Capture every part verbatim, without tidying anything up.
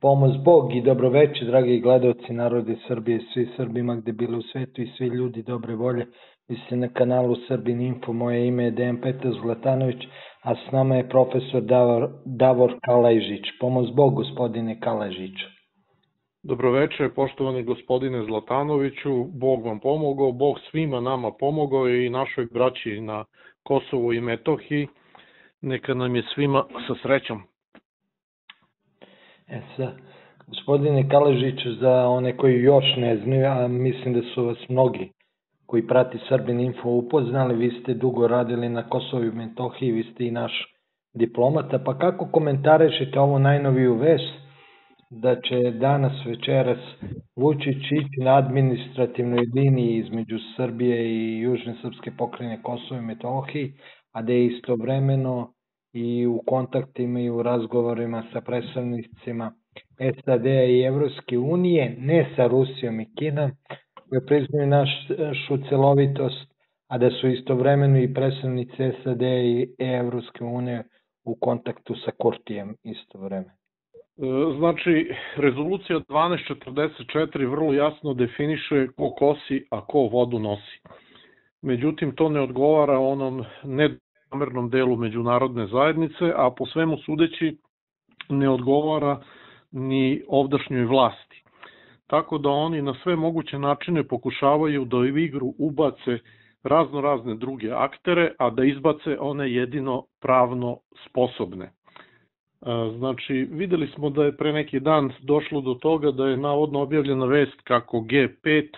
Pomoz Bog i dobroveče, dragi gledalci, narodi Srbije, svi Srbima gde bili u svetu i svi ljudi dobre volje. Vi ste na kanalu Srbin Info, moje ime je Dejan Petar Zlatanović, a s nama je profesor Davor, Davor Kalajžić. Pomoz Bog, gospodine Kalajžiću. Dobroveče, poštovani gospodine Zlatanoviću, Bog vam pomogao, Bog svima nama pomogao i našoj braći na Kosovu i Metohiji. Neka nam je svima sa srećom. E sad, gospodine Kalajžiću, za one koji još ne znaju, a mislim da su vas mnogi koji prati Srbin Info upoznali, vi ste dugo radili na Kosovu i Metohiji, vi ste i naš diplomata, pa kako komentarišete ovu najnoviju vest da će danas večeras Vučić ići na administrativnoj liniji između Srbije i Južne srpske pokrajine Kosovo i Metohiji, a da je istovremeno i u kontaktima i u razgovorima sa predstavnicima S A D-a i Evropske unije, ne sa Rusijom i Kinom, koje priznaju našu celovitost, a da su istovremeno i predstavnici S A D-a i Evropske unije u kontaktu sa Kurtijem istovremeno. Znači, rezolucija dvanaest četrdeset četiri vrlo jasno definiše ko kosi, a ko vodu nosi. Međutim, to ne odgovara onom nenamernom delu međunarodne zajednice, a po svemu sudeći ne odgovara ni ovdašnjoj vlasti. Tako da oni na sve moguće načine pokušavaju da u igru ubace razno razne druge aktere, a da izbace one jedino pravno sposobne. Znači, videli smo da je pre neki dan došlo do toga da je navodno objavljena vest kako G pet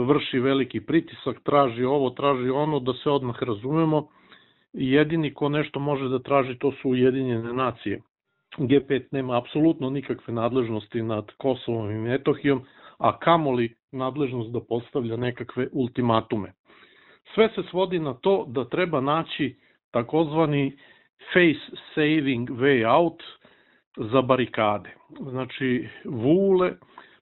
vrši veliki pritisak, traži ovo, traži ono, da se odmah razumemo. Jedini ko nešto može da traži, to su Ujedinjene nacije. G pet nema apsolutno nikakve nadležnosti nad Kosovom i Metohijom, a kamoli nadležnost da postavlja nekakve ultimatume. Sve se svodi na to da treba naći takozvani face saving way out za barikade. Znači, Vule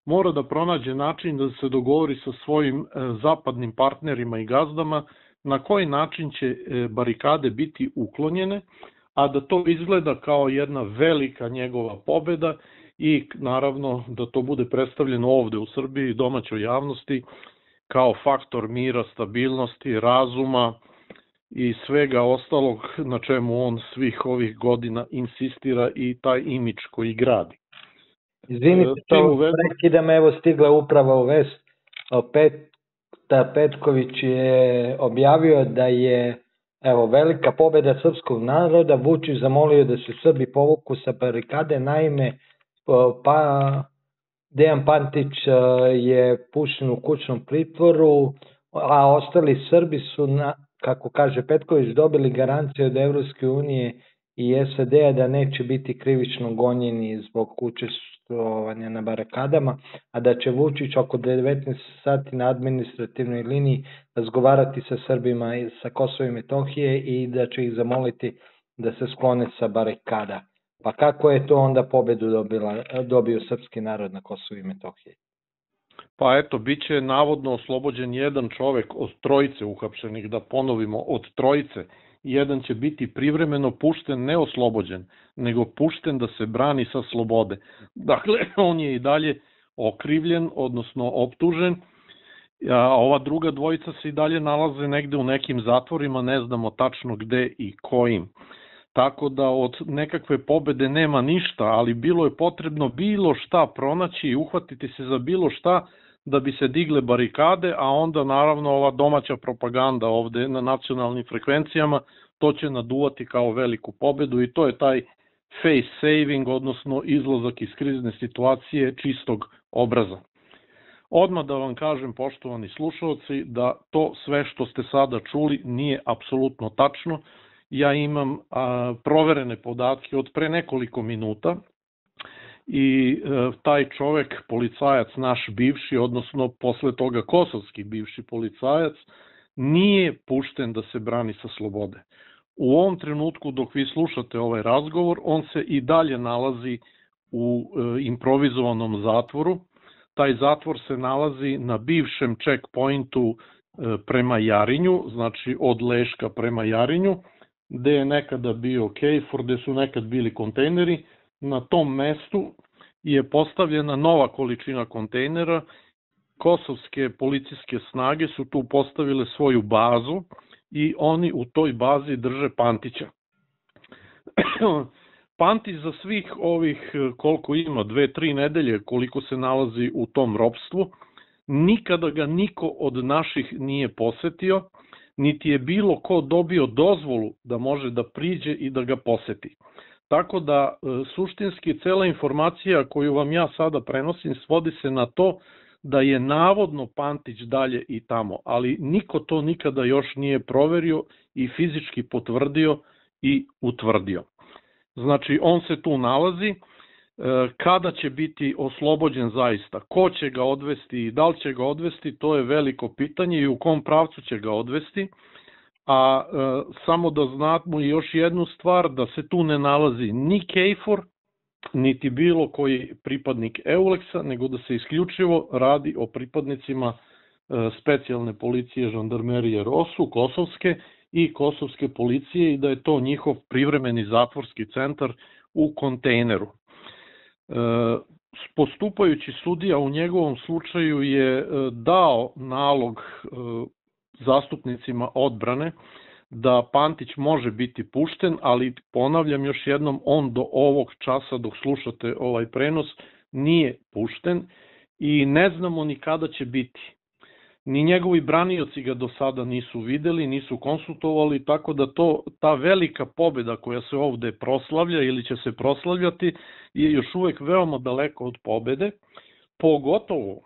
mora da pronađe način da se dogovori sa svojim zapadnim partnerima i gazdama na koji način će barikade biti uklonjene, a da to izgleda kao jedna velika njegova pobeda i naravno da to bude predstavljeno ovde u Srbiji i domaćoj javnosti kao faktor mira, stabilnosti, razuma i svega ostalog na čemu on svih ovih godina insistira i taj imidž koji gradi. Izvinite, to prekidam, evo stigla upravo u vest. Petar Petković je objavio da je evo velika pobeda srpskog naroda, Vučić zamolio da se Srbi povuku sa barikade, naime pa Dejan Pantić je pušten u kućnom pritvoru, a ostali Srbi su, na, kako kaže Petković, dobili garanciju od Evropske unije i S A D-a da neće biti krivično gonjeni zbog učestvovanja na barakadama, a da će Vučić oko devetnaest sati na administrativnoj liniji razgovarati sa Srbima sa Kosova i Metohije i da će ih zamoliti da se sklone sa barikada. Pa kako je to onda pobedu dobila, dobio srpski narod na Kosovu i Metohiji? Pa eto, bit će navodno oslobođen jedan čovek od trojice uhapšenih, da ponovimo, od trojice. Jedan će biti privremeno pušten, ne oslobođen, nego pušten da se brani sa slobode. Dakle, on je i dalje okrivljen, odnosno optužen, a ova druga dvojica se i dalje nalaze negde u nekim zatvorima, ne znamo tačno gde i kojim. Tako da od nekakve pobede nema ništa, ali bilo je potrebno bilo šta pronaći i uhvatiti se za bilo šta da bi se digle barikade, a onda naravno ova domaća propaganda ovde na nacionalnim frekvencijama to će naduvati kao veliku pobedu i to je taj face saving, odnosno izlazak iz krizne situacije čistog obraza. Odmah da vam kažem, poštovani slušalci, da to sve što ste sada čuli nije apsolutno tačno. Ja imam a, proverene podatke od pre nekoliko minuta i e, taj čovek, policajac naš bivši, odnosno posle toga kosovski bivši policajac, nije pušten da se brani sa slobode. U ovom trenutku dok vi slušate ovaj razgovor, on se i dalje nalazi u e, improvizovanom zatvoru. Taj zatvor se nalazi na bivšem checkpointu e, prema Jarinju, znači od Leška prema Jarinju, gde je nekada bio Kejfor, gde su nekad bili kontejneri. Na tom mestu je postavljena nova količina kontejnera. Kosovske policijske snage su tu postavile svoju bazu i oni u toj bazi drže Pantića. Pantić za svih ovih, koliko ima, dve, tri nedelje koliko se nalazi u tom ropstvu, nikada ga niko od naših nije posetio, niti je bilo ko dobio dozvolu da može da priđe i da ga poseti. Tako da suštinski cela informacija koju vam ja sada prenosim svodi se na to da je navodno Pantić dalje i tamo, ali niko to nikada još nije proverio i fizički potvrdio i utvrdio. Znači, on se tu nalazi. Kada će biti oslobođen zaista, ko će ga odvesti i da li će ga odvesti, to je veliko pitanje i u kom pravcu će ga odvesti. A e, samo da znamo još jednu stvar, da se tu ne nalazi ni KFOR, niti bilo koji pripadnik Euleksa, nego da se isključivo radi o pripadnicima e, specijalne policije žandarmerije ROSU, kosovske i kosovske policije i da je to njihov privremeni zatvorski centar u kontejneru. Postupajući sudija u njegovom slučaju je dao nalog zastupnicima odbrane da Pantić može biti pušten, ali ponavljam još jednom, on do ovog časa dok slušate ovaj prenos nije pušten i ne znamo ni kada će biti. Ni njegovi branioci ga do sada nisu videli, nisu konsultovali, tako da to, ta velika pobeda koja se ovde proslavlja ili će se proslavljati je još uvek veoma daleko od pobede, pogotovo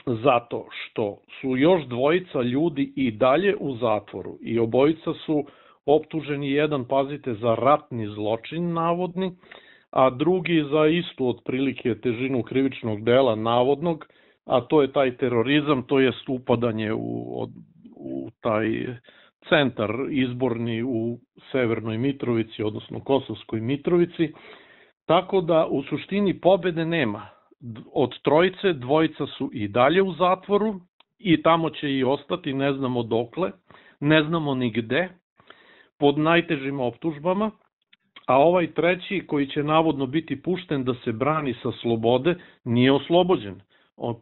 zato što su još dvojica ljudi i dalje u zatvoru i obojica su optuženi, jedan, pazite, za ratni zločin navodni, a drugi za istu otprilike težinu krivičnog dela navodnog, a to je taj terorizam, to je upadanje u, u taj centar izborni u Severnoj Mitrovici, odnosno Kosovskoj Mitrovici, tako da u suštini pobede nema. Od trojice, dvojica su i dalje u zatvoru i tamo će i ostati, ne znamo dokle, ne znamo ni gde, pod najtežim optužbama, a ovaj treći koji će navodno biti pušten da se brani sa slobode, nije oslobođen.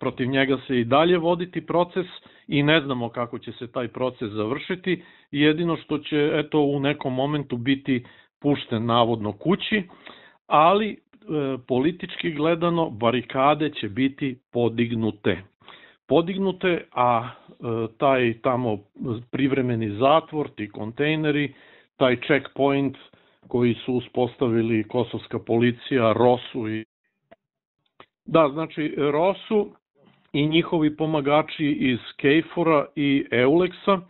Protiv njega se i dalje voditi proces i ne znamo kako će se taj proces završiti, jedino što će eto u nekom momentu biti pušten navodno kući, ali e, politički gledano barikade će biti podignute. Podignute, a e, taj tamo privremeni zatvor, ti kontejneri, taj checkpoint koji su uspostavili kosovska policija, ROSU i Da, znači ROSU i njihovi pomagači iz KFOR-a i Euleksa,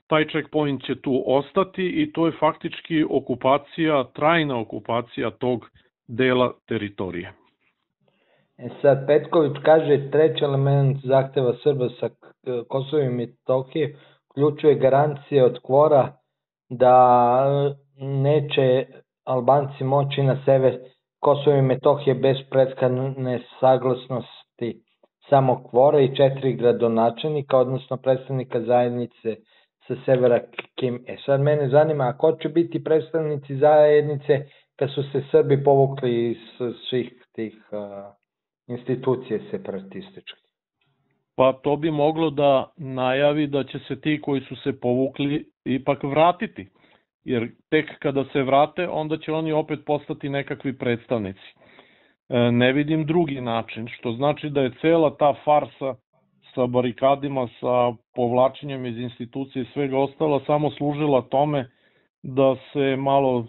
taj checkpoint će tu ostati i to je faktički okupacija, trajna okupacija tog dela teritorije. E sad, Petković kaže treći element zahteva Srba sa Kosova i Metohije uključuje garancije od KFOR-a da neće Albanci moći na sever Kosovo i Metohije bez prethodne saglasnosti samog KFOR-a i četiri gradonačelnika, odnosno predstavnika zajednice sa severa Kim. E sad mene zanima, a ko će biti predstavnici zajednice kad su se Srbi povukli iz svih tih uh, institucija separatističkih? Pa to bi moglo da najavi da će se ti koji su se povukli ipak vratiti. Jer tek kada se vrate, onda će oni opet postati nekakvi predstavnici. Ne vidim drugi način, što znači da je cela ta farsa sa barikadima, sa povlačenjem iz institucije i svega ostala samo služila tome da se malo,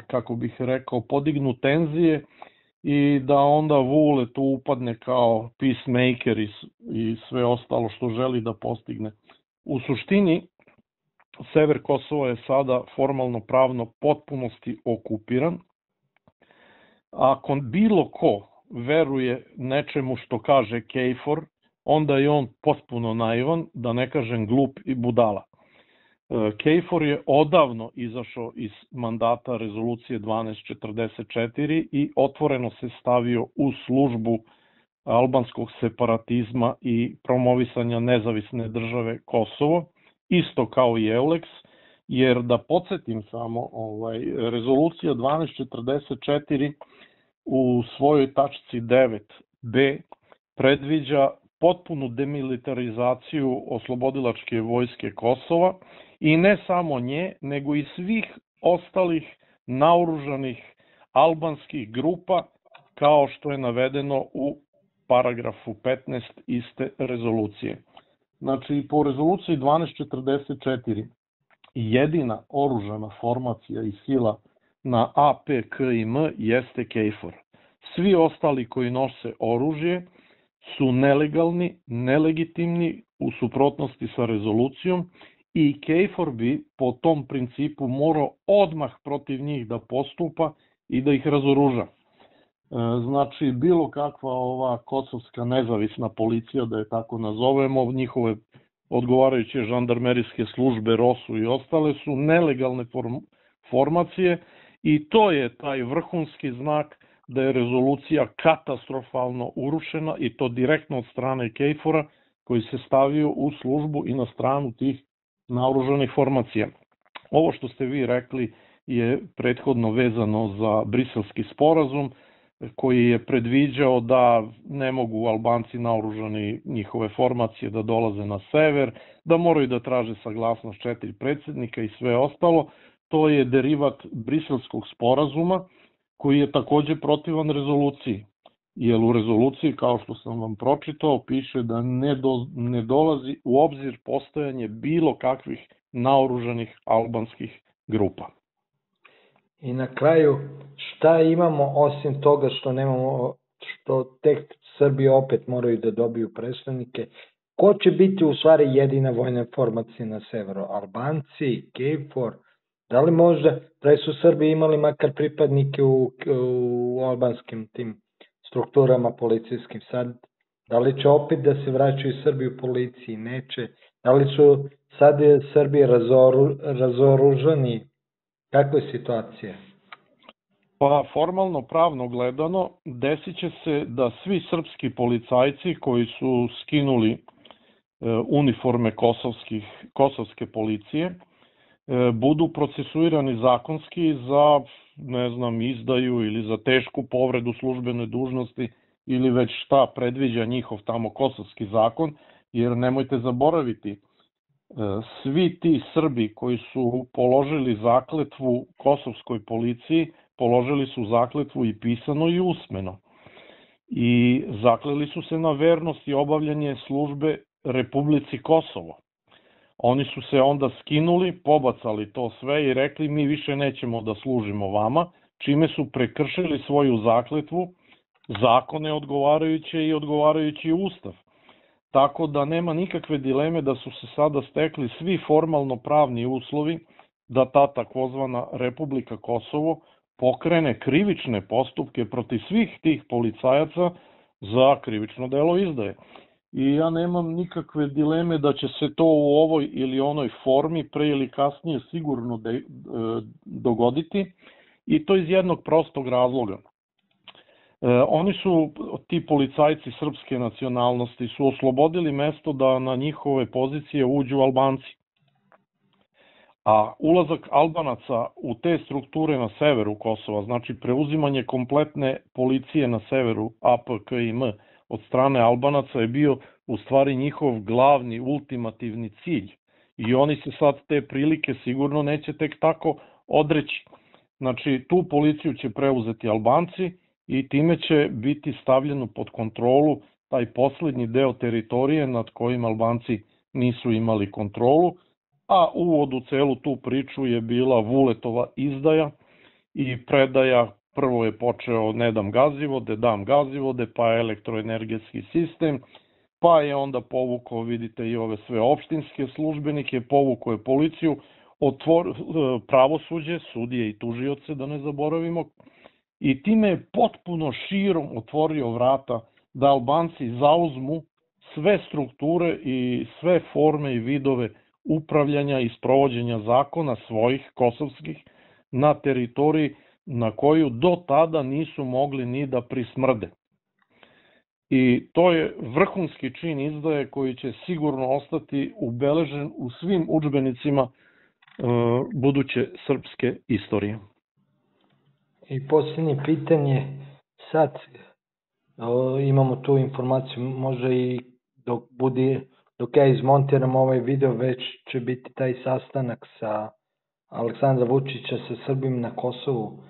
kako bih rekao, podignu tenzije i da onda Vule tu upadne kao peacemaker i sve ostalo što želi da postigne. U suštini, sever Kosova je sada formalno pravno potpunosti okupiran. Ako bilo ko veruje nečemu što kaže KFOR, onda je on potpuno naivan, da ne kažem glup i budala. KFOR je odavno izašao iz mandata rezolucije dvanaest četrdeset četiri i otvoreno se stavio u službu albanskog separatizma i promovisanja nezavisne države Kosovo, isto kao i Euleks, jer da podsjetim samo, ovaj, rezolucija dvanaest četrdeset četiri u svojoj tačci devet b predviđa potpunu demilitarizaciju oslobodilačke vojske Kosova i ne samo nje, nego i svih ostalih naoružanih albanskih grupa, kao što je navedeno u paragrafu petnaest iste rezolucije. Znači, po rezoluciji dvanaest četrdeset četiri jedina oružana formacija i sila na A P K I M jeste KFOR. Svi ostali koji nose oružje su nelegalni, nelegitimni, u suprotnosti sa rezolucijom i KFOR bi po tom principu morao odmah protiv njih da postupa i da ih razoruža. Znači, bilo kakva ova kosovska nezavisna policija, da je tako nazovemo, njihove odgovarajuće žandarmerijske službe, ROSU i ostale su nelegalne formacije i to je taj vrhunski znak da je rezolucija katastrofalno urušena i to direktno od strane KFOR-a koji se stavio u službu i na stranu tih naoružanih formacija. Ovo što ste vi rekli je prethodno vezano za Briselski sporazum koji je predviđao da ne mogu Albanci naoružani njihove formacije da dolaze na sever, da moraju da traže saglasnost četiri predsjednika i sve ostalo. To je derivat Briselskog sporazuma koji je takođe protivan rezoluciji. Jer u rezoluciji, kao što sam vam pročitao, piše da ne, do, ne dolazi u obzir postojanje bilo kakvih naoružanih albanskih grupa. I na kraju, šta imamo osim toga što nemamo, što tek Srbi opet moraju da dobiju predstavnike? Ko će biti u stvari jedina vojna formacija na severu? Albanci, KFOR? Da li možda, pre su Srbi imali makar pripadnike u, u albanskim tim strukturama policijskim, sad da li će opet da se vraćaju Srbi u policiji? Neće. Da li su sad Srbi razoru, razoružani? Kakva je situacija? Pa formalno pravno gledano desit će se da svi srpski policajci koji su skinuli e, uniforme kosovskih, kosovske policije e, budu procesuirani zakonski za, ne znam, izdaju ili za tešku povredu službene dužnosti ili već šta predviđa njihov tamo kosovski zakon, jer nemojte zaboraviti, svi ti Srbi koji su položili zakletvu kosovskoj policiji, položili su zakletvu i pisano i usmeno. I zakleli su se na vernost i obavljanje službe Republici Kosovo. Oni su se onda skinuli, pobacali to sve i rekli mi više nećemo da služimo vama, čime su prekršili svoju zakletvu, zakone odgovarajuće i odgovarajući ustav. Tako da nema nikakve dileme da su se sada stekli svi formalno pravni uslovi da ta takozvana Republika Kosovo pokrene krivične postupke protiv svih tih policajaca za krivično delo izdaje. I ja nemam nikakve dileme da će se to u ovoj ili onoj formi pre ili kasnije sigurno de, e, dogoditi i to iz jednog prostog razloga. E, oni su, ti policajci srpske nacionalnosti, su oslobodili mesto da na njihove pozicije uđu Albanci. A ulazak Albanaca u te strukture na severu Kosova, znači preuzimanje kompletne policije na severu A P K I M od strane Albanaca je bio u stvari njihov glavni, ultimativni cilj. I oni se sad te prilike sigurno neće tek tako odreći. Znači, tu policiju će preuzeti Albanci i time će biti stavljeno pod kontrolu taj poslednji deo teritorije nad kojim Albanci nisu imali kontrolu, a uvod u celu tu priču je bila Vuletova izdaja i predaja. Prvo je počeo ne dam gazivode, dam gazivode, pa elektroenergetski sistem, pa je onda povukao, vidite, i ove sve opštinske službenike, povukao je policiju, otvor, pravosuđe, sudije i tužioce, da ne zaboravimo, i time je potpuno širom otvorio vrata da Albanci zauzmu sve strukture i sve forme i vidove upravljanja i sprovođenja zakona svojih kosovskih na teritoriji na koju do tada nisu mogli ni da prismrde. I to je vrhunski čin izdaje koji će sigurno ostati ubeležen u svim udžbenicima e, buduće srpske istorije. I posljednje pitanje, sad o, imamo tu informaciju, može i dok budi, dok ja izmontiram ovaj video, već će biti taj sastanak sa Aleksandra Vučića sa Srbima na Kosovu.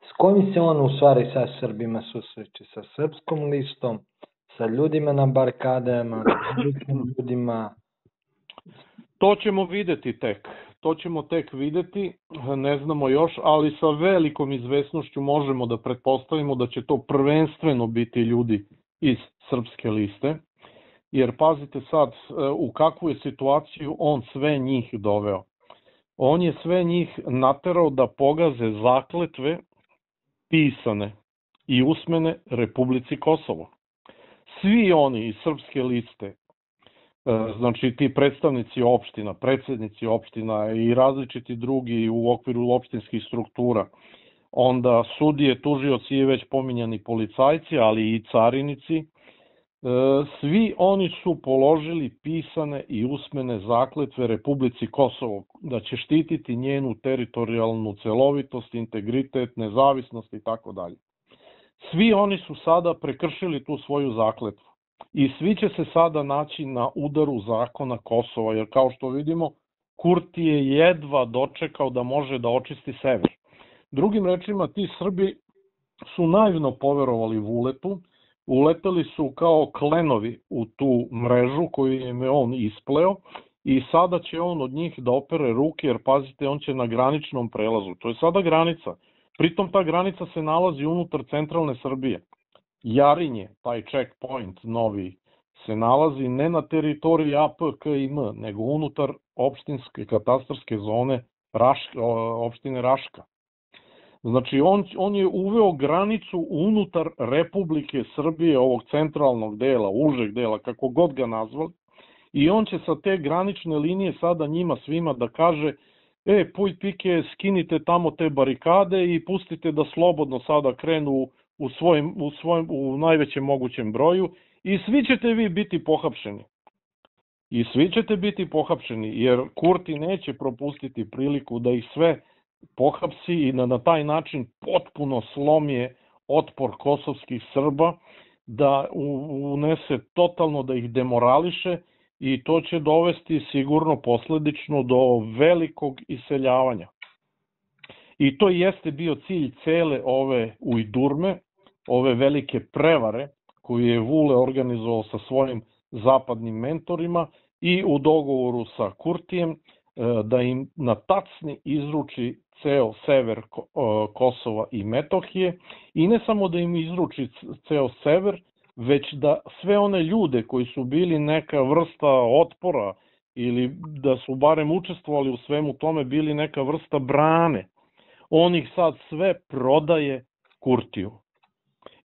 S kojim se on u stvari sa Srbima susreće? Sa srpskom listom, sa ljudima na barikadama, sa ljudima? To ćemo videti tek. To ćemo tek videti, ne znamo još, ali sa velikom izvesnošću možemo da pretpostavimo da će to prvenstveno biti ljudi iz srpske liste, jer pazite sad u kakvu je situaciju on sve njih doveo. On je sve njih naterao da pogaze zakletve pisane i usmene Republici Kosovo. Svi oni iz srpske liste, znači ti predstavnici opština, predsednici opština i različiti drugi u okviru opštinskih struktura, onda sudije, tužioci i već pominjani policajci, ali i carinici, svi oni su položili pisane i usmene zakletve Republici Kosovo, da će štititi njenu teritorijalnu celovitost, integritet, nezavisnost i tako dalje. Svi oni su sada prekršili tu svoju zakletvu i svi će se sada naći na udaru zakona Kosova, jer kao što vidimo, Kurti je jedva dočekao da može da očisti sever. Drugim rečima, ti Srbi su naivno poverovali Vuletu, uleteli su kao klenovi u tu mrežu koju je on ispleo i sada će on od njih da opere ruke, jer pazite, on će na graničnom prelazu. To je sada granica. Pritom ta granica se nalazi unutar centralne Srbije. Jarinje, taj checkpoint novi, se nalazi ne na teritoriji A P, K i M, nego unutar opštinske katastarske zone Raška, opštine Raška. Znači, on, on je uveo granicu unutar Republike Srbije, ovog centralnog dela, užeg dela, kako god ga nazvali, i on će sa te granične linije sada njima svima da kaže: e, puj pike, skinite tamo te barikade i pustite da slobodno sada krenu u, svojim, u, svojim, u najvećem mogućem broju i svi ćete vi biti pohapšeni. I svi ćete biti pohapšeni, jer Kurti neće propustiti priliku da ih sve pohapsi i da na taj način potpuno slomije otpor kosovskih Srba, da unese totalno, da ih demorališe, i to će dovesti sigurno posledično do velikog iseljavanja. I to jeste bio cilj cele ove ujdurme, ove velike prevare koju je Vule organizovao sa svojim zapadnim mentorima i u dogovoru sa Kurtijem da im na tacni izruči ceo sever Kosova i Metohije, i ne samo da im izruči ceo sever, već da sve one ljude koji su bili neka vrsta otpora ili da su barem učestvovali u svemu tome, bili neka vrsta brane, on ih sad sve prodaje Kurtiju.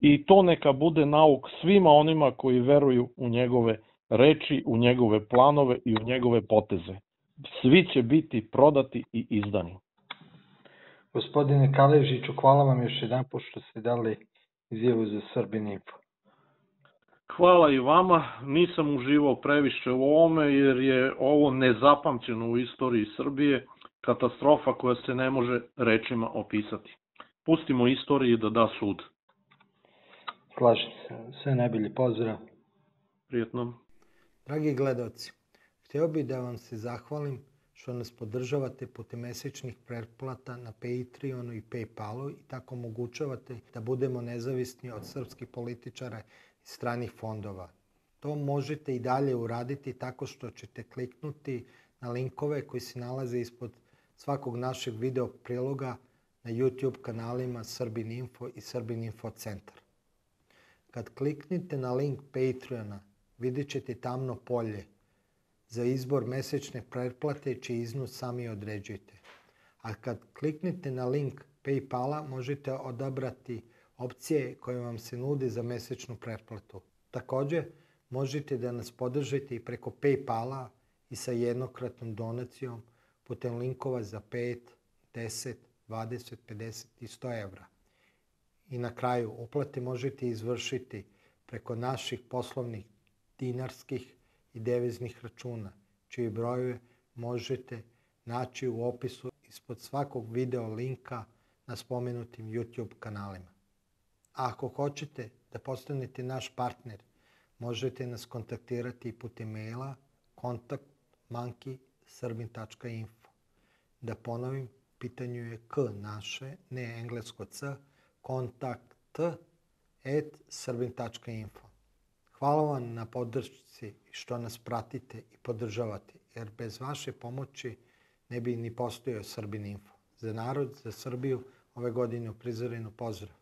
I to neka bude nauk svima onima koji veruju u njegove reči, u njegove planove i u njegove poteze. Svi će biti prodati i izdani. Gospodine Kaležiću, hvala vam još jedan put što ste dali izjavu za Srbin Info. Hvala i vama, nisam uživao previše u ovome jer je ovo nezapamćeno u istoriji Srbije, katastrofa koja se ne može rečima opisati. Pustimo istoriji da da sud. Slažem se, sve najbolji pozdrav. Prijetno. Dragi gledaoci, hteo bih da vam se zahvalim što nas podržavate putem mesečnih pretplata na Patreonu i Paypalu i tako omogućavate da budemo nezavisni od srpskih političara i stranih fondova. To možete i dalje uraditi tako što ćete kliknuti na linkove koji se nalaze ispod svakog našeg video priloga na YouTube kanalima Srbin Info i Srbin Info Centar. Kad kliknite na link Patreona, vidjet ćete tamno polje za izbor mesečne pretplate, čiji iznos sami određujete. A kad kliknete na link Paypala, možete odabrati opcije koje vam se nude za mesečnu pretplatu. Također, možete da nas podržite i preko Paypala i sa jednokratnom donacijom putem linkova za pet, deset, dvadeset, pedeset i sto evra. I na kraju, uplate možete izvršiti preko naših poslovnih dinarskih i deviznih računa, čiji brojeve možete naći u opisu ispod svakog video linka na spomenutim YouTube kanalima. ako hoćete da postanete naš partner, možete nas kontaktirati putem maila kontakt monkey srbin tačka info. Da ponovim, pitanju je k naše, ne englesko c, kontakt at srbin tačka info. Hvala vam na podršci što nas pratite i podržavate, jer bez vaše pomoći ne bi ni postojao Srbin Info. Za narod, za Srbiju, ove godine u prizorenu pozdrav.